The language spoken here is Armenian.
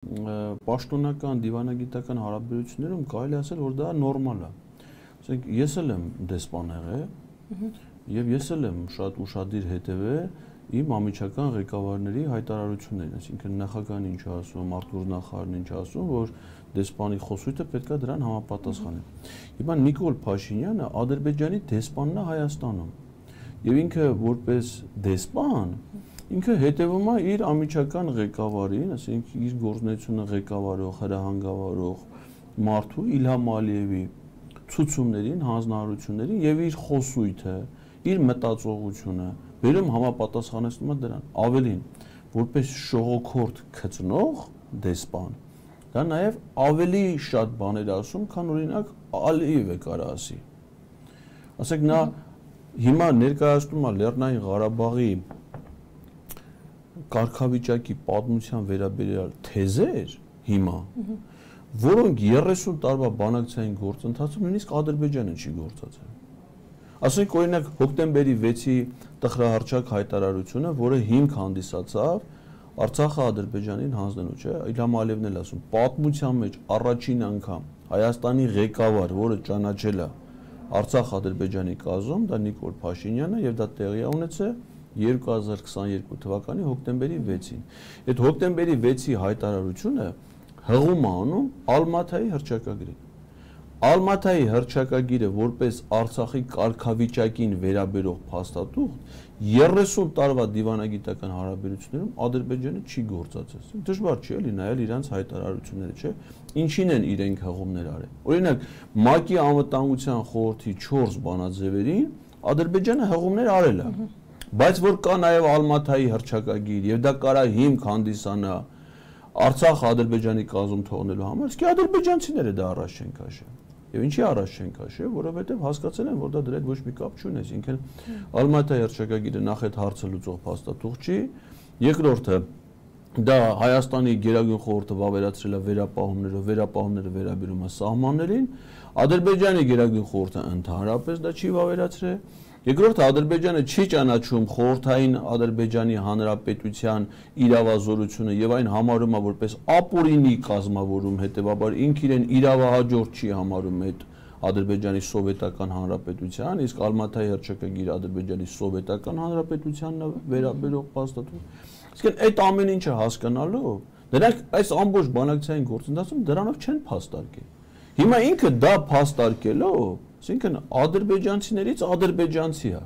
Պաշտոնական դիվանագիտական հարաբերություններում կարելի ասել, որ դա նորմալ է։ Ասենք ես էլ եմ դեսպան եղել եւ ես էլ եմ շատ ուշադիր հետեւել իմ ամիջական ղեկավարների հայտարարություններին, այսինքն նախագահն ինչ ասում, արտգործնախարարն ինչ ասում, որ դեսպանի խոսույթը պետք է դրան համապատասխանի։ Հիմա Նիկոլ Փաշինյանը Ադրբեջանի դեսպանն է Հայաստանում եւ ինքը որպես դեսպան ինքը հետևում է իր ամիջական ղեկավարին, ասենք իր գործունեությունը ղեկավարող, հրահանգավորող մարդու Իլհամ Ալիևի ցուցումներին, հանձնարարություններին եւ իր խոսույթը, իր մտածողությունը վերում համապատասխանեցնում է դրան։ Ավելին, որպես շողոքորթ քծնող դեսպան, դա նաեւ ավելի շատ բաներ ասում, քան օրինակ Ալիևը կարող ասի։ Ասենք նա հիմա ներկայացնում է Լեռնային Ղարաբաղի կարգավիճակի պատմության վերաբերյալ թեզեր հիմա, որոնք 30 տարվա բանակցային գործընթացում նույնիսկ Ադրբեջանը չի գործածել։ Ասենք օրինակ հոկտեմբերի 6-ի տխրահարճակ հայտարարությունը, որը հիմք հանդիսացավ Արցախը Ադրբեջանին հանձնելու, չէ՞, Իլհամ Ալիևն էլ ասում, պատմության մեջ առաջին անգամ Հայաստանի ղեկավար, որը ճանաչել է Արցախ-Ադրբեջանի կազում, դա Նիկոլ Փաշինյանն է եւ դա տեղի ունեցել 2022 թվականի հոկտեմբերի 6-ին։ Այդ հոկտեմբերի 6-ի հայտարարությունը հղում է անում Ալմաթայի հռչակագրին։ Ալմաթայի հռչակագիրը որպես Արցախի կարգավիճակին վերաբերող փաստաթուղթ 30 տարվա դիվանագիտական հարաբերություններում Ադրբեջանը չի գործածել։ Դժվար չի էլի նայել իրանց հայտարարությունները, չէ՞։ Ինչին են իրենք հղումներ արել։ Օրինակ ՄԱԿ-ի անվտանգության խորհրդի 4 բանաձևերին Ադրբեջանը հղումներ արել է։ Բայց որ կա նաև Ալմաթայի հռչակագիր եւ դա կարա հիմք հանդիսանա Արցախ Ադրբեջանի կազում թողնելու համար, իսկ ադրբեջանցիները դա առաջ չեն քաշել։ Եվ ինչի առաջ չեն քաշել, որովհետեւ հասկացել են, որ դա դրա հետ ոչ մի կապ չունի, այսինքն Ալմաթայի հռչակագիրը նախ այդ հարցը լուծող փաստաթուղթ չի, երկրորդը դա Հայաստանի Գերագույն խորհուրդը վավերացրել է վերապահումները վերաբերում է սահմաններին, Ադրբեջանի Գերագույն խորհուրդը ընդհանրապես դա չի վավերացրել։ Երկրորդը Ադրբեջանը չի ճանաչում խորհրդային Ադրբեջանի Հանրապետության իրավազորությունը եւ այն համարում է որպես ապօրինի կազմավորում, հետեւաբար ինքը իրեն իրավահաջորդ չի համարում այդ Ադրբեջանի Սովետական Հանրապետության, իսկ Ալմաթայի հռչակագիրը Ադրբեջանի Սովետական Հանրապետությանն է վերաբերող փաստաթուղթ։ Իսկ այդ ամեն ինչը հասկանալով, դրանք այս ամբողջ բանակցային գործընթացում դրանով չեն փաստարկել։ Հիմա ինքը դա փաստարկելով, այսինքն ադրբեջանցիներից ադրբեջանցի է։